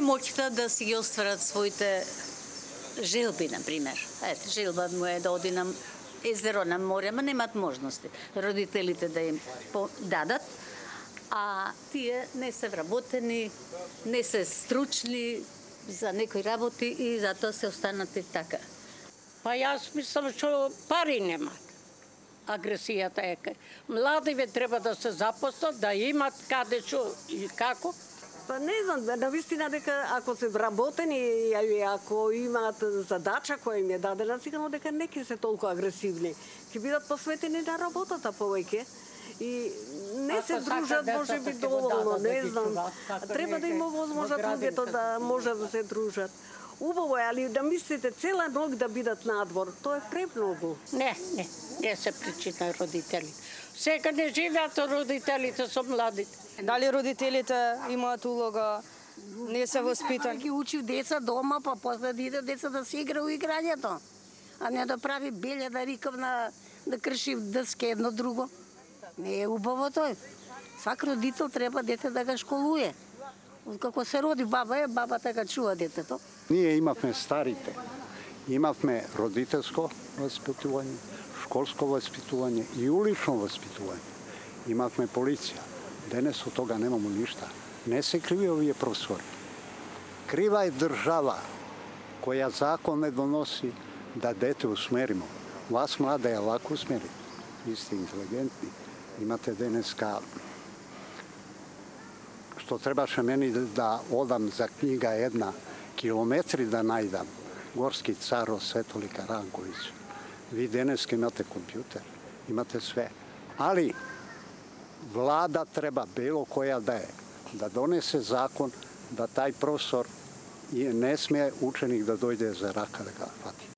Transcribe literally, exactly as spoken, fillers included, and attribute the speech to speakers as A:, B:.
A: моќта да си ги остварат своите желби, например. Ете, желба му е да оди на езеро, на море, ама немат можности родителите да им дадат, а тие не се вработени, не се стручни за некои работи и затоа се останати така.
B: Па јас мислам што пари немат. Агресијата е кај. Младиве треба да се запослат, да имат каде што и како.
C: Па не знам, навистина дека ако се вработени и ако имаат задача која им е дадена, сигурно дека не ќе се толку агресивни. Ќе бидат посветени на работата повеќе и не се дружат можеби доволно, не знам. Треба да има возможност луѓето да можат да се дружат. Убаво е, али да мислите цела ног да бидат надвор, тоа е премногу.
B: Не, не, не се причина родители. Сега не живеат родителите со младите.
D: Дали родителите имаат улога, не се воспитани?
E: Ги учи деца дома, па после да иде деца да се игра у играњето, а не да прави белја, да рикав на да крши дъски едно друго. Не е убаво тој. Свак родител треба дете да го школуе. Како се роди баба е, бабата го чува детето.
F: Ние имавме старите, имавме родителско воспитување, школско воспитување и улично воспитување. Имавме полиција. Денес од тога немамо ништа. Не се криви овие професори. Крива е држава која закон не доноси да дете усмеримо. Вас млада е лако усмерите. Ви сте интелигентни. Имате денеска што требаше мени да одам за книга една, километри да најдам, Горски царо Светолик Ранковиќ. Ви денеска имате компјутер, имате све. Али влада треба било која да е, да донесе закон да тај професор не смее ученик да дојде за рака да го фати.